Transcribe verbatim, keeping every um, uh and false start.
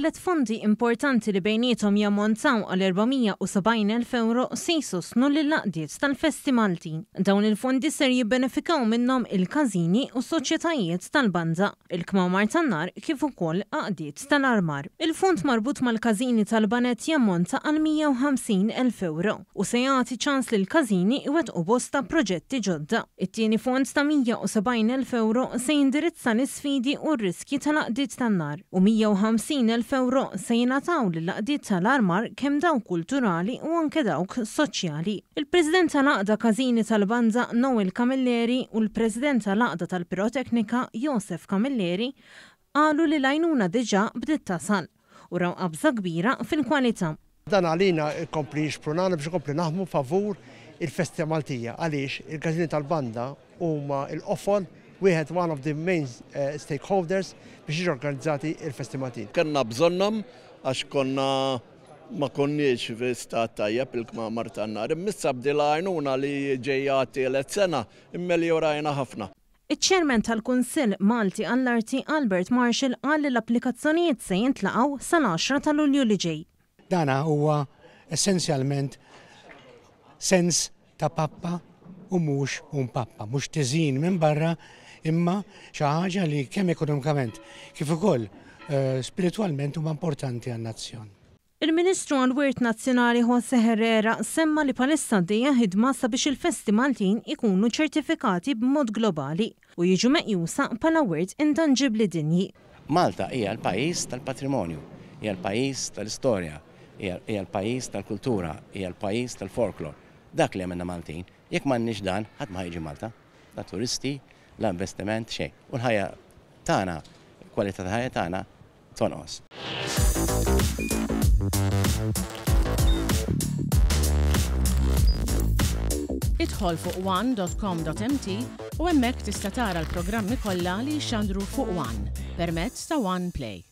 Tliet fondi importanti li bejniethom jammontaw għal erba' mija u sebgħin elf euro se jsostnu lill-għaqdiet tal-festi Maltin. Dawn il-fondi ser jibbenefikaw minnhom il-każini u soċjetajiet tal-banda, il-kmamar tan-nar kif ukoll għaqdiet tal-armar. Il-fond marbut mal-każini tal-baned jammonta għal mija u ħamsin elf euro u se jagħti ċans lil każini iwettqu bosta proġetti ġodda. It-tieni fond ta' mija u sebgħin elf euro se jindirizza l-isfidi u r-riskji tal-għaqdiet tan-nar u mija u ħamsin elf euro se jingħataw lill-għaqdiet tal-armar, kemm dawk kulturali u anke dawk soċjali. Il-President tal-Għaqda Każini tal-Banda Noel Camilleri u l-President tal-Għaqda tal-Piroteknika Josef Camilleri qalu li l-għajnuna diġà bdiet tasal u raw qabża kbira fil-kwalità. Dan għalina jkompli jixprunana biex ikompli naħdmu favur il-festi Maltija, għaliex il-każini tal-banda huma l-qofol wieħed, one of the main uh, stakeholders biex jiġu organizzati il-festi Maltin. Kellna bżonnhom għax konna ma konniex fi stat tajjeb il-kmamar tan-nar. Imma issa b'dil-għajnuna li ġejja tielet sena immeljorajna ħafna. Iċ-ċermen tal-Kunsill Malti għall-Arti Albert Marshall qal li l-applikazzjonijiet se jintlaqgħu sal-għaxra ta' Lulju li ġej. Dana huwa essenzjalment sens ta' pappa u mhux un pappa, mhux tiżin minn barra, imma xi ħaġa li kemm ekonomikament kif ukoll uh, spiritualment huma importanti għan-nazzjon. Il-Ministru għal-Wirt Nazzjonali Jose Herrera semma li bħalissa għaddejja ħidma sabiex il-festi Maltin ikunu ċertifikati b'mod globali u jiġu meqjusa bħala wirt intanġibli dinji. Malta hija l-pajjiż tal-patrimonju, hija l-pajjiż tal-istorja, hija l-pajjiż tal-kultura, hija l-pajjiż tal-folklor. Dak li għamilna Maltin, jekk m'għandniex dan, ħadd ma jiġi Malta, la turisti, la investiment, xejn. U l-ħajja tagħna, kwalità ta' ħajja tagħna tonqos. Idħol fuq one dot com dot M T u hemmhekk tista' tara l-programmi kollha li jxandru fuq One permezz ta' One Play.